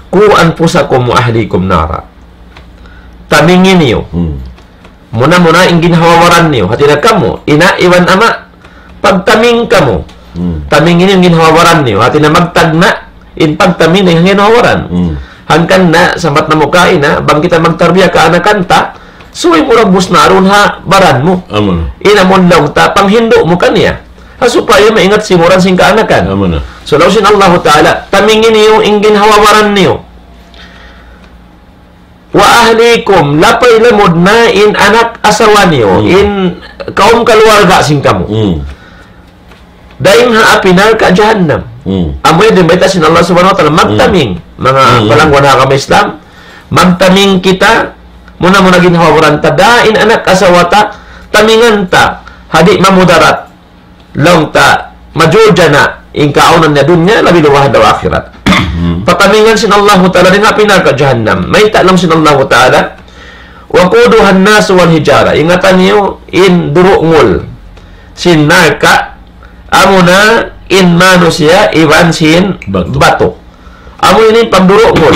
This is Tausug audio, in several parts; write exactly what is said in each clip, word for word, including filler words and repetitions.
قوا أنفسكم وأهليكم نارا. Tamingi niyu. Hmm. Muna-muna in ginhawa-baran niyu. Hati niya kamu, ina' iban ama', pagtaming kamu. Hmm. Tamingi niyu in ginhawa-baran niyu. Hati niya magtagna', in pagtaming dayn ha ginhawa-baran. Hmm. Hangkan na, sambat namu' kaina, bang kita magtarbiya kaanakan ta, subay mu ragbus na arun ha baran mu. Amun. In amun laung ta, panghindu' mu kaniya. Ha supaya maingat simuran sin kaanakan. Amun na. So, laung sin Allahu Ta'ala, tamingi niyu in ginhawa-baran niyu. وأهليكم, lapay lamud na in anak asawa niyu, hmm, in kaum kaluwarga sin kamu. Hmm. Dayn ha api narka' jahannam. Hmm. Amu yan in bayta' sin Allah Subhanahu wa Ta'ala, hmm, magtaming. Manga, hmm, palangguan ha agama Islam, magtaming kita, muna-muna ginhawa-baran ta, da in anak asawa ta, tamingan ta, ha di' mamudarat. Laung ta, majul jana, in kaawnan niya dunya, labi luwa ha adlaw akhirat. Hmm. Patamingan sin Allahu Ta'ala dayn ha api narka' jahannam. Mayta' laung sin Allahu Ta'ala, وقودها الناس والحجارة. Ingatan niyu in durungul sin narka', amuna in manusiya' iban sin batu. Batu. Amu ini in pagdurungul.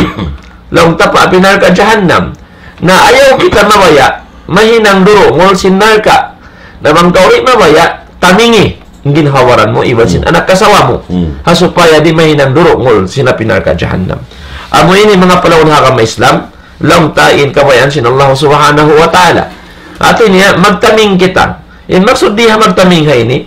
Laung ta pa api narka' jahannam. Na ayaw kita mabaya', mahinang durungul sin narka'. Na bang kaw di' mabaya', tamingi in ginhawa-baran mu, iban sin, hmm, anak asawa mu. Hmm. Ha supaya di' mahinang durungul sin api narka' jahannam. Amu ini manga palangguan ha agama Islam, laung ta in kabayaan sin Allah Subhanahu wa Ta'ala. Hati niya, magtaming kita. In maksud di ha magtaming ha ini,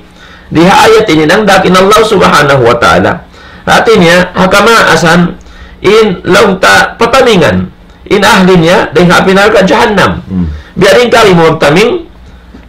di ha ayat ini, nangdak in Allah Subhanahu wa Ta'ala. Hati niya, ha kamaasan, in laung ta patamingan in ahli niya, dayn ha api narka' jahannam. Hmm. Biya' diin kari mu magtaming,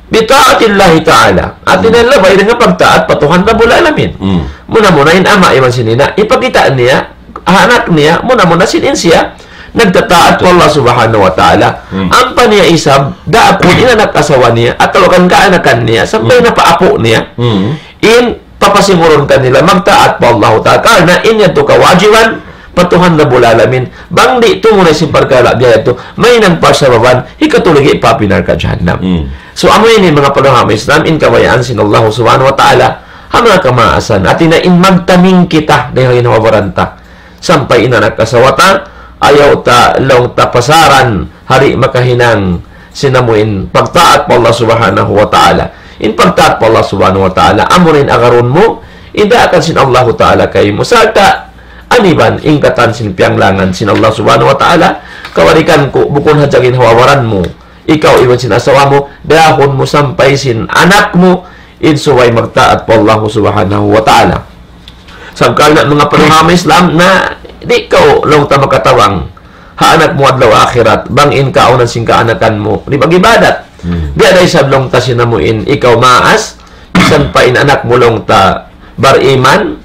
بطاعة الله تعالى. Hati niya, hmm, labay dayn ha pagtaat pa Tuhan Rabbul Alamin. Hmm. Muna-muna in ama' iban sin ina', ipakita' niya, ha anak niya, muna-muna sin in siya, nagtataat pa Allah Subhanahu wa Ta'ala. Hmm. Ampa niya isab, daakun in anak asawa niya, atawa kan kaanakan niya, sampay, hmm, na pa apu' niya. Hmm. In papasingurun kanila magtaat pa Allahu Ta'ala. Karna' in yadtu kawajiban pa Tuhan Rabbul Alamin. Bang di' tumunay sin parkala' biya' yadtu, mahinang parsababan hikatuligi pa api narka' jahannam. Hmm. So, amu ini manga palangguan ha agama Islam, in kabayaan sin Allah Subhanahu wa Ta'ala, ha manga kamaasan. Hati niya in magtaming kita, dayn ha ginhawa-baran ta. Sampay in anak asawa ta, ayaw ta laung ta pasaran, ha di' makahinang sin amu in pagtaat pa Allah Subhanahu wa Ta'ala. In pagtaat pa Allah Subhanahu wa Ta'ala, amu in agarun mu, in daakan sin Allahu Ta'ala kaymu. Sarta', aniban, in katan sin piyanglangan sin Allah Subhanahu wa Ta'ala, kawalikan ku, bukun hadja ginhawa-baran mu, ikaw iban sin asawa mu, dahun mu sampay sin anak mu, in subay magtaat pa Allah Subhanahu wa Ta'ala. Sabab karna' manga palangguan ha agama Islam na di' kaw laung ta makatabang ha anak mu adlaw akhirat, bang in kaawnan sin kaanakan mu di' mag-ibadat. Hmm. Biya' da isab laung ta sin amu in ikaw maas, misan pa in anak mu laung ta bariman,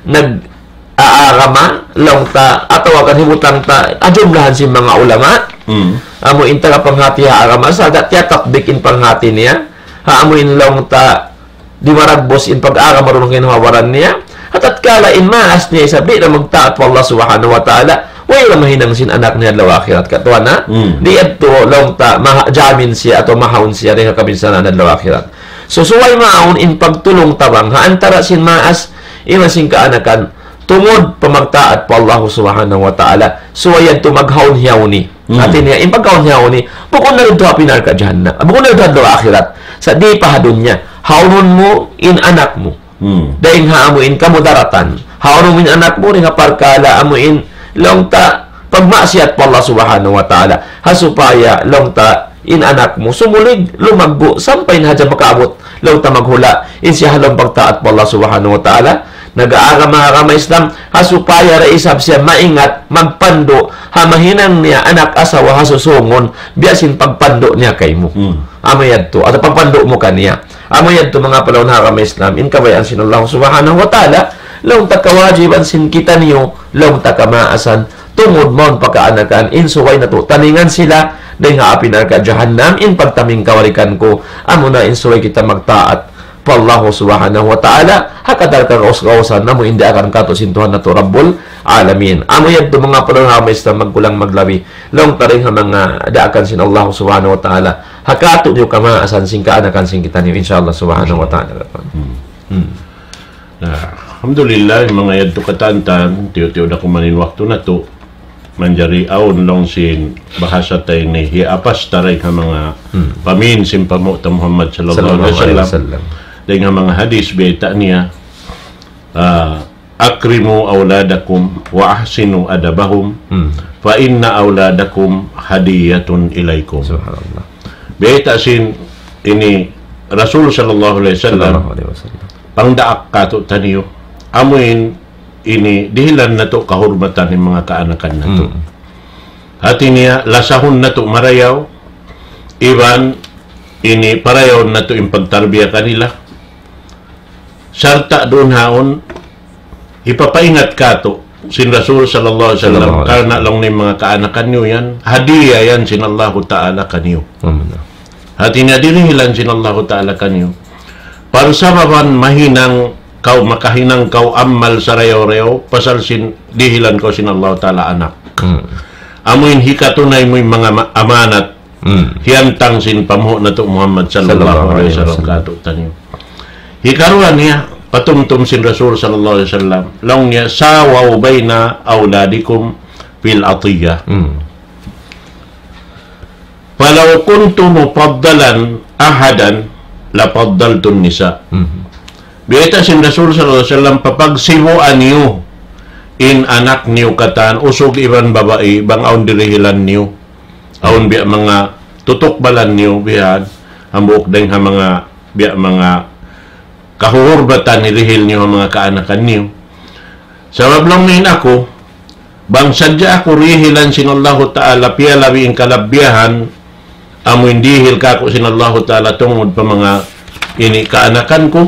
nag-aagama, laung ta, atawa kan hibutang ta, ha jumlahan sin manga ulama, hmm, amu in taga panghati ha agama, sa' da tiyatatbik in panghati niya, ha amu in laung ta, di' maragbus in pag-agama duun ha ginhawa-baran niya. Ha tatkala in maas niya isab di' na magtaat pa Allah Subhanahu wa Ta'ala, way na mahinang sin anak niya adlaw akhirat. Katuan na, hmm, di' yadtu laung ta maha-, jamin siya atawa mahaun siya dayn ha kabinsanaan adlaw akhirat. So, subay mawn in pagtulung-tabang ha antara sin maas iban sin kaanakan, tungud pa magtaat pa Allah Subhanahu wa Ta'ala, subay yadtu maghaun-hiyauni. Hmm. Hati niya, in pagkaun niya ini, bukun na didtu ha api narka' jahannam. Bukun na didtu ha adlaw akhirat. Sa' di' pa ha dunya. Haunun mu in anak mu. Hmm. Dayn ha amu in kamudaratan. Haunun mu in anak mu, dayn ha parkala' amu in laung ta pagmaksiyat pa Allah Subhanahu wa Ta'ala. Ha supaya laung ta in anak mu sumulig, lumaggu', sampay na hadja makaabut laung ta maghula', in siya ha lawm pagtaat pa Allah Subhanahu wa Ta'ala, nag-aagama ha agama Islam, ha supaya da isab siya maingat, magpandu', ha mahinang niya anak asawa ha susūngun, biya' sin pagpandu' niya kaymu. Hmm. Amu yadtu, atawa pagpandu' mu kaniya. Amu yadtu manga palangguan ha agama Islam, in kabayaan sin Allah Subhanahu wa Ta'ala, laung ta kawajiban sin kitaniyu, laung ta kamaasan, tungud mawn pa kaanakan, in subay natu' tamingan sila, dayn ha api narka' jahannam, in pagtaming kawalikan ku, amuna in subay kita magtaat pa Allah Subhanahu wa Ta'ala, ha kadar kagaus-gausan, amu in daakan kātu' sin Tuhan natu' Rabbul Alamin. Amu yadtu manga palangguan ha agama Islam magkulang maglabi, laung ta dayn ha manga daakan sin Allah Subhanahu wa Ta'ala, ha kātu' niyu kamaasan sin kaanakan sin kitaniyu, insya Allah Subhanahu wa Ta'ala. Hmm. Hmm. Na, alhamdulillah, manga yadtu katantan, tiyu'-tiyu' da kuman in waktu natu'. manjari awn laung sin bahasa ta ini, hiyapas ta dayn ha manga pamin sin panghu' ta Muhammad sallallahu alayhi wasallam. Dayn ha manga hadith bayta' niya, ah, "Akrimu awladakum wa ahsinu adabahum, fa inna awladakum hadiyatun ilaykum." Subhanallah. Bayta' sin ini Rasul sallallahu alayhi wasallam, pangdaak katu'taniyu. Amuin ini dihilan natu' kahurmatan in manga kaanakan natu'. Hati niya, lasahun natu' marayaw, iban ini parayawun natu' in pagtarbiya kanila. Sarta' duun haun, hipapaingat katu' sin Rasul sallallahu alayhi wasallam, karna' laung niya in manga kaanakan niyu yan, hadiya yan sin Allahu Ta'ala kaniyu. Hati niya dirihilan sin Allahu Ta'ala kaniyu. Parsababan mahinang kaw, makahinang kaw amal sarayaw-rayaw, pasal sin dihilan kaw sin Allahu Ta'ala anak. Amuin hikatunay mu in manga ma-, amanat, hiyantang sin panghu' natu' Muhammad sallallahu alayhi wasallam katu'taniyu. Hikaruwa niya, patumtum sin Rasul sallallahu alayhi wasallam, laung niya, "Sawaw bayna awladikum fil atiyah." فلو كنت مفضلا أحدا لفضلت النساء. Bayta' sin Rasul sallallahu alayhi wasallam, papagsibuan niyu in anak niyu katan, usug iban babai, bang awn dirihilan niyu. Awn biya' manga tutukbalan niyu bihan, hambuuk dayn ha manga biya' manga kahuhurmatan hirihil niyu ha manga kaanakan niyu. Sabab laung niya in aku, bang sadja aku rihilan sin Allahu Ta'ala piyalabi in kalabbiyahan, amu in dihil kāku' sin Allahu Ta'ala tungud pa manga ini kaanakan ku,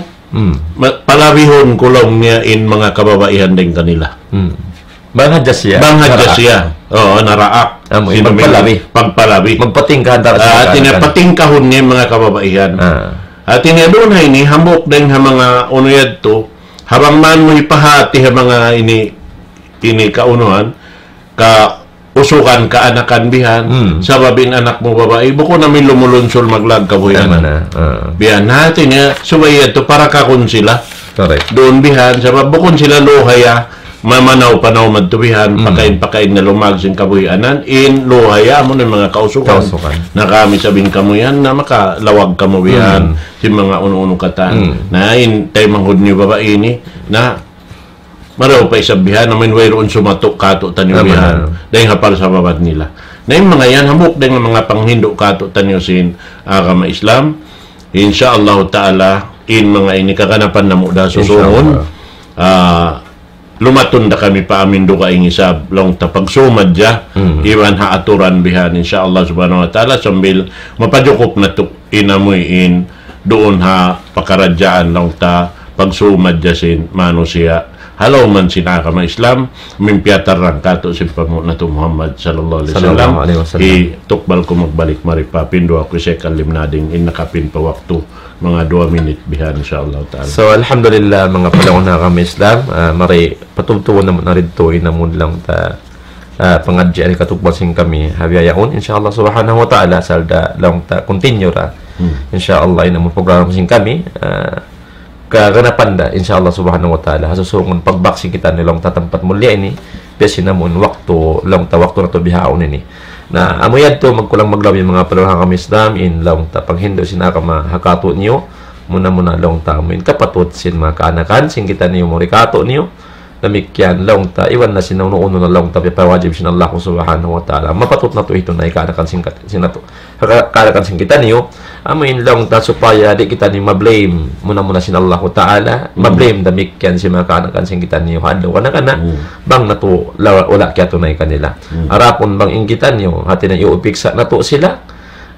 ma-, palabihun ku laung niya in manga kababaihan dayn kanila. Bang hadja siya. Bang hadja siya. Oo, naraak. Amu in pagpalabi. Pagpalabi. Magpatingkah antara sin kaanakan. Hati niya patingkahun niya in manga kababaihan. Hati niya duun ha ini, hambuuk dayn ha manga unu yadtu, ha bang man mu hipahati ha manga ini, ini kaunuhan, kausugan kaanakan bihan, sabab in anak mu babai, bukun amu in lumulunsul maglag kabuhianan. Bihan, hati niya, subay yadtu parakahun sila. Duun bihan, sabab bukun sila luhaya, mamanaw-panaw madtu bihan, pakain-pakain na lumag sin kabuhianan, in luhaya, amu na in manga kausugan. Na kami sabab in kamu yan, na makalawag kamu bihan, sin manga unu-unu katan. Na in taymanghud niyu babai ini, na marayaw pa isab bihan, amu in wayruun sumatu' kātu'niyu bihan. Dayn ha parsababan nila. Na in manga yan, hambuuk dayn ha manga panghindu' kātu'niyu sin agama Islam. Insya Allah Ta'ala, in manga ini kaganapan namu' da susungun. Insya Allah. Ah, lumatun da kami pa amin dugaing isab, laung ta pagsumad ja, iban ha aturan bihan, insya Allah Subhanahu wa Ta'ala, sambil mapajukup natu' in amuin duun ha pakaradjaan, laung ta pagsumad ja sin manusiya'. Halaw man sin agama Islam, amu in piyatarrang kātu' sin panghu' natu' Muhammad sallallahu alayhi wasallam. Sallallahu alayhi wasallam. Hi tukbal ku magbalik mari pa pinduwa ku isab kalimnading in nakapin pa waktu. Manga duwa minit bihan, insya Allah Ta'ala. So, alhamdulillah, manga palangga' ha agama Islam, ah, mari patubtubun namu' na didtu in amun laung ta, ah, pangadji' ini katukbal sin kami ha bihaun, insya Allah Subhanahu wa Ta'ala, asal da laung ta continue ra. Insya Allah, in amun program sin kami, ah, kaganapan da, insya Allah Subhanahu wa Ta'ala, ha susungun pagbak sin kitaniyu laung ta tampat mulliya ini, biya' sin amun waktu, laung ta waktu natu' bihaun ini. Na, amu yadtu magkulang maglabi manga palangga' ha agama Islam, in laung ta panghindu' sin agama ha kātu'niyu, muna-muna laung ta amu in kapatut sin manga kaanakan, sin kitaniyu mari kātu'niyu, damikkiyan laung ta, iban na sin unu-unu na laung ta piyapawajib sin Allah Subhanahu wa Ta'ala. Mapatut natu' hitunay kaanakan sin kat-, sin natu'. Ka-, kaanakan sin kitaniyu, amu in laung ta supaya di' kitaniyu ma-blame muna-muna sin Allahu Ta'ala, ma-blame damikkiyan sin manga kaanakan sin kitaniyu ha adlaw kana-kana, bang natu' la-, wala' kiyatunay kanila. Adapun bang in kitaniyu, hati niya iyupiksa natu' sila,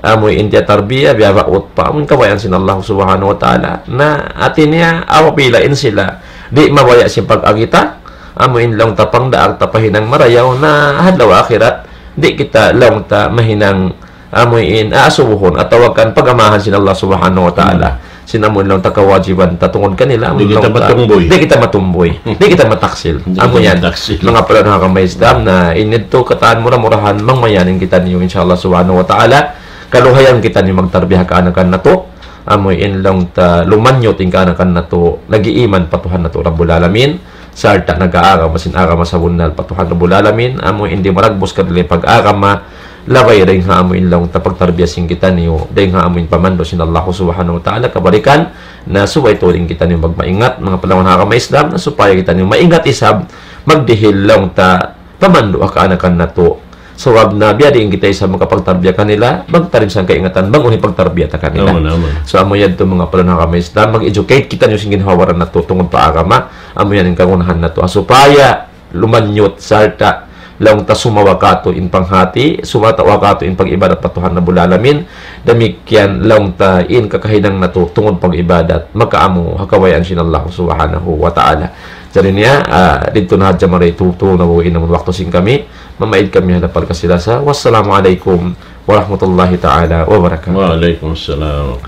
amu in tiyatarbiya, biyabaut pa, amu in kabayaan sin Allah Subhanahu wa Ta'ala. Na, hati niya, apabila in sila, di' mabaya' sin pag-agi ta, amu in laung ta pangdaak ta pa hinang marayaw, na ha adlaw akhirat, di' kita laung ta mahinang amu in aasubuhun atawa kan pag-amahan sin Allah Subhanahu wa Ta'ala. Sin amu in laung ta kawajiban ta tungud kanila, amu in laung ta di' kita matumbuy, di' kita mataksil. Amu yan, manga palangga' ha agama Islam, na in yadtu katan mura-murahan mangmayan in kitaniyu, insya Allah Subhanahu wa Ta'ala, kaluhayan kitaniyu magtarbiya kaanakan natu', amu in laung ta lumanyut in kaanakan natu', nag-iiman pa Tuhan natu' Rabbul Alamin, sarta' nag-aagama sin agama sabunnal pa Tuhan Rabbul Alamin, amu in di' maragbus kanila in pag-agama, labay dayn ha amu in laung ta pagtarbiya sin kitaniyu, dayn ha amu in pamandu' sin Allah Subhanahu wa Ta'ala, kabalikan, na subay tuud in kitaniyu magmaingat, manga palangga' ha agama Islam, na supaya kitaniyu maingat isab, magdihil laung ta, pamandu' ha kaanakan natu'. Sabab na biya' diin kita isab makapagtarbiya kanila, magtarim sa kaingatan, bang unu in pagtarbiya ta kanila. Amun, amun. So, amu yadtu manga palangga' ha agama Islam, mag-educate kitaniyu sin ginhawa-baran natu' tungud pa agama, amu yan in kagunahan natu'. Supaya, lumanyut, sarta', laung ta sumawa katu' in panghati, sumawa katu' in pag-ibadat pa Tuhan Rabbul Alamin, damikkiyan laung ta in kakahinang natu' tungud pag-ibadat, makaamu ha kabayaan sin Allah Subhanahu wa Ta'ala. Jari niya, ah, didtu na hadja mari tuud na bu in amun waktu sin kami, mamaid kami ha lapal kasi-lasa. Wassalamu alaykum warahmatullahi ta'ala wabarakatuh. Wa alaykum assalam.